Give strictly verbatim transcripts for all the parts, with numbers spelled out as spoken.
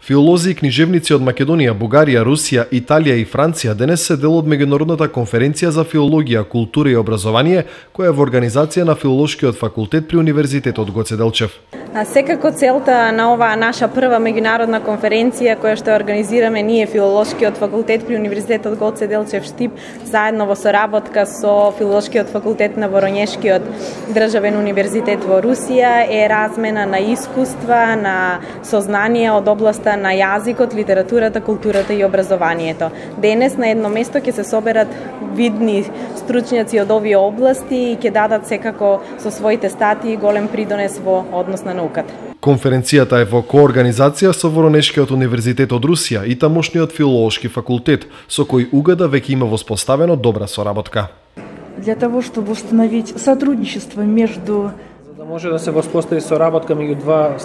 Филолози и книжевници од Македонија, Бугарија, Русија, Италија и Франција денес се дел од меѓународната конференција за филологија, култура и образование, која е во организација на Филолошкиот факултет при Универзитетот Гоце Делчев. Секако целта на оваа наша прва меѓународна конференција која што организираме ние Филолошкиот факултет при Универзитетот Гоце Делчев Штип, заедно во соработка со Филолошкиот факултет на Воронешкиот државен универзитет во Русија, е размена на искуства, на сознание од областа на јазикот, литературата, културата и образованието. Денес на едно место ќе се соберат видни стручњаци од овие области и ќе дадат секако со своите статии голем придонес во однос на науката. Конференцијата е во коорганизација со Воронешкиот универзитет од Русија и тамошниот филолошки факултет, со кој УГД веќе има воспоставено добра соработка. Для того, чтобы установить сотрудничество между може да се воспостави соработка меѓу два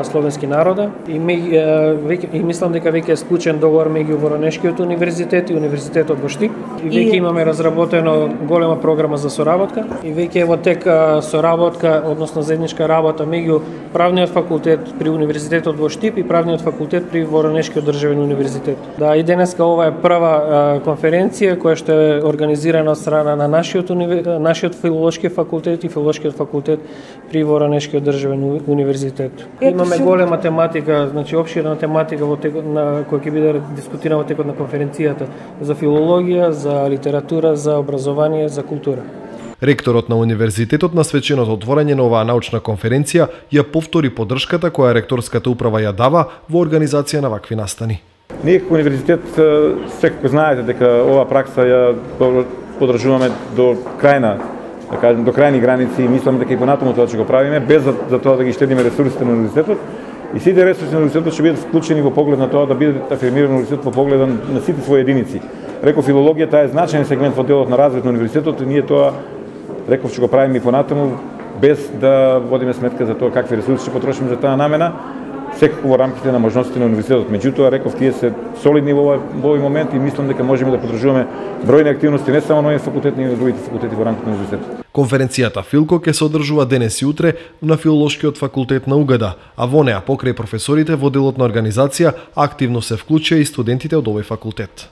словенски народа и, ми, веќе, и мислам дека веќе е склучен договор меѓу Воронешкиот универзитет и Универзитетот во Штип и веќе и... имаме разработено голема програма за соработка и веќе е во тек соработка, односно заедничка работа меѓу правниот факултет при Универзитетот во Штип и правниот факултет при Воронешкиот државен универзитет. Да, и денеска ова е прва конференција која што е организирана од страна на нашиот универ... нашиот филолошки факултет и филолошкиот факултет при Воронешкиот државен универзитет. Имаме голема тематика, значи опширна тематика во текот на која ќе биде дискутирана во текот на конференцијата за филологија, за литература, за образование, за култура. Ректорот на универзитетот на свеченото отворање на оваа научна конференција ја повтори поддршката која ректорската управа ја дава во организација на вакви настани. Ние како универзитет секако знаете дека оваа пракса ја поддржуваме до крајна, да кажем, до крајни граници и мислам дека и понатаму тоа ќе го правиме, без за, за тоа да ги штедиме ресурсите на универзитетот. И сите ресурси на универзитетот ќе бидат вклучени во поглед на тоа да биде афирмиран универзитетот во поглед на сите своји единици. Реков, филологијата е значаен сегмент во делот на развојот на универзитетот и ние тоа, реков, ќе го правиме и понатаму, без да водиме сметка за тоа какви ресурси ќе потрошиме за таа намена, секако во рамките на можностите на универзитетот. Меѓутоа, реков, тие се солидни во овој момент и мислам дека можеме да поддржуваме бројни активности не само на овој факултет, но и на другите факултети во рамките на универзитетот. Конференцијата Филко ќе се одржува денес и утре на Филолошкиот факултет на УГД, а во неа покрај професорите во делот на организација активно се вклучија и студентите од овој факултет.